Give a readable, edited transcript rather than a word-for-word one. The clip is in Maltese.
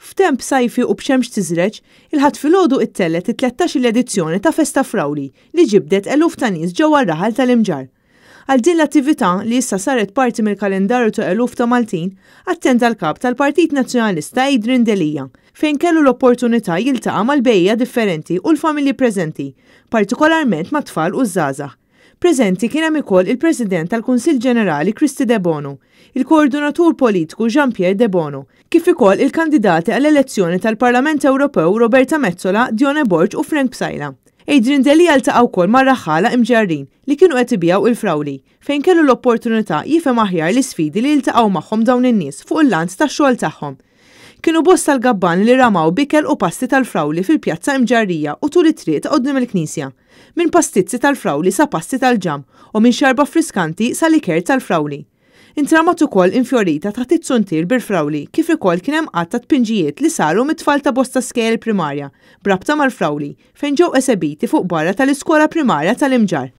F'temp sajfi u b'xemx tiżreġ, il-Ħadd filgħodu ittellgħet it-tlettax-il edizzjoni ta' Festa Frawli li ġibdet eluf ta' nies ġewwa r-raħal tal-Imġarr. Għal din l-attività, li issa saret parti mill-kalendarju ta' eluf ta' Maltin, attenda l-Kap tal-Partit Nazzjonalista Adrian Delia, fejn kellu l-opportunità jiltaqa' mal-bejjiegħa differenti u l-familji preżenti, partikolarment mat-tfal u ż-żgħażagħ. Preżenti kien hemm ukoll il-President tal-Kunsill Ġenerali Kristy Debono, il-Koordinatur Politiku Jean Pierre Debono, kif ukoll il-kandidati għall-elezzjoni tal-Parlament Ewropew Roberta Metsola, Dione Borg u Frank Psaila. Adrian Delia ltaqa' wkoll ma' raħħala Imġarrin li kienu qed ibigħu il-frawli, fejn kellu l-opportunità jifhem aħjar l-isfidi li jiltaqgħu magħhom dawn in-nies fuq il-lant tax-xogħol tagħhom. Kienu bosta l-gabbani li ramaw b'ikel u pasti tal-frawli fil-pjazza Imġarrija u tul it-triq ta' quddiem il-knisja. Minn pastizzi tal-frawli sa pasti tal-ġamm u minn xarba friskanti sa liker tal-frawli. Intramat ukoll infjorita taħt iz-zuntier bil-frawli kif ukoll kien hemm għadd ta' tpinġijiet li saru mit-tfal ta' bosta skejjel primarja b'rabta mal-frawli fejn ġew esebiti fuq barra tal-iskola primarja tal-Imġarr.